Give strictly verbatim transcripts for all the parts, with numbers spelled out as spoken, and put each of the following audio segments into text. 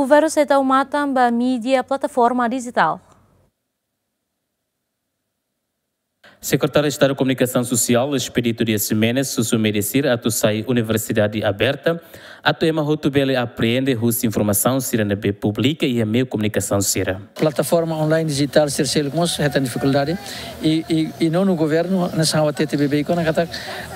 Governu sei tau matan ba mídia plataforma dijitál. Sekretáriu Estadu Komunikasaun Sosiál, Expedito Dias Ximenes, husu média sira atu sai universidade aberta, atu ema hotu bele apreende husi informasaun sira ne'ebé publika iha meiu komunikasaun sira. Plataforma online dijitál sira seluk mós hetan difikuldade. I, i, i nonu governu, hanesan ha'u hatete beibeik ona katak,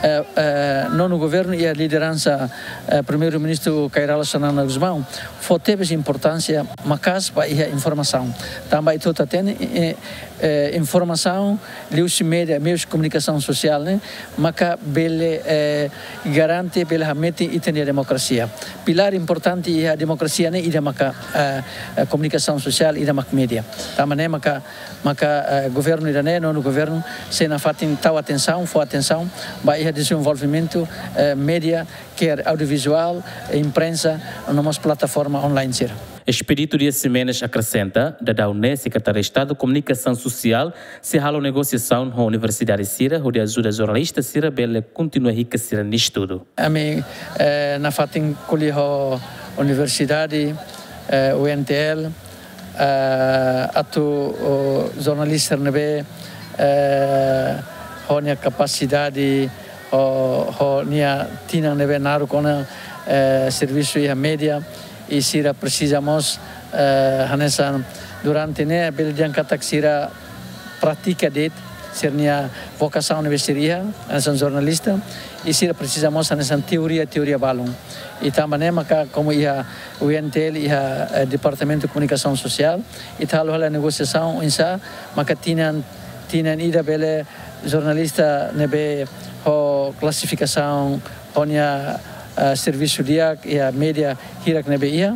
eh, eh, nonu governu iha lideransa, eh, Primeiru-Ministru Kay Rala Xanana Gusmão, fó tebes importánsia maka'as ba iha informasaun. Tanba ita hotu hatene, eh, eh, informasaun liuhusi média, meius komunikasaun sosiál ne'e, maka bele, eh, garante, bele hametin ita-nia demokrasia. Pilár importante iha demokrasia ne'e ida maka, eh, eh, komunikasaun sosiál, ida maka média. Tanba ne'e maka, maka, eh, governu ida-ne'e, nonu governu, sei nafatin tau atensaun, fó atensaun ba iha dezenvolvimentu, eh, média, quer audiovizuál, imprensa, no mós plataforma online sira. Expedito Dias Ximenes akresenta, daudaun ne'e Sekretáriu Estadu Komunikasaun Sosiál sei halo negosiasaun ho universidade sira, hodi ajuda jornalista sira bele kontinua hikas sira-nia estudu. Ami, eh, nafatin ko'alia ho universidade, eh, U N T L, eh, atu, o, jornalista ne'ebé, eh, ho nia kapasidade, ho, ho nia tinan ne'ebé naruk ona, eh, servisu iha média, i sira presiza mós, eh, hanesan durante ne'e bele dehan katak sira pratika de'it sira-nia vokasaun ne'ebé sira iha, hanesan jornalista, i sira presiza mós hanesan teoria, teoria balun. I tanba ne'e maka komu iha U N T L iha, eh, Departamentu Komunikasaun Sosiál, ita halo hela negosiasaun oinsá maka tinan, tinan ida bele jornalista ne'ebé ho klasifikasaun, ho nia, eh, servisu di'ak iha média hirak ne'ebé iha,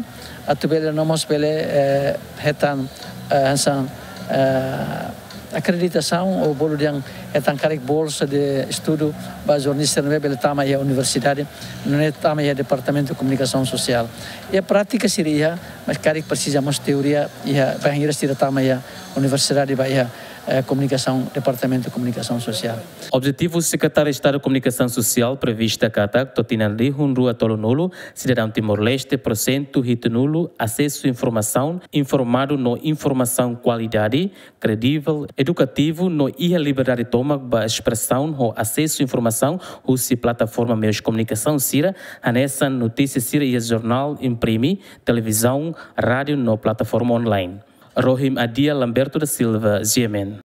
atu bele no mós bele, eh, hetan, eh, hanesan, eh, akreditasaun ou bolu dehan hetan karik bolsa de estudu ba jornalista ne'ebé bele tama iha universidade, nune'e tama iha Departamentu Komunikasaun Sosiál. Iha prátika sira iha, mas karik presiza mós teoria iha, bainhira sira tama iha universidade ba iha, eh, komunikasaun, Departamentu Komunikasaun Sosiál. Objetivu Sekretáriu Estadu Komunikasaun Sosiál prevista katak to'o tinan rihun rua tolunulu, sidadaun Timor-Leste porsentu hitunulu asesu informasaun, informadu no informasaun kualidade, kredivel, edukativu no iha liberdade tomak ba espresaun ho asesu informasaun husi plataforma meius komunikasaun sira, hanesan notísia sira iha jornál imprime, televizaun, rádiu no plataforma online. Rohim Adia, Lamberto da Silva, G M N.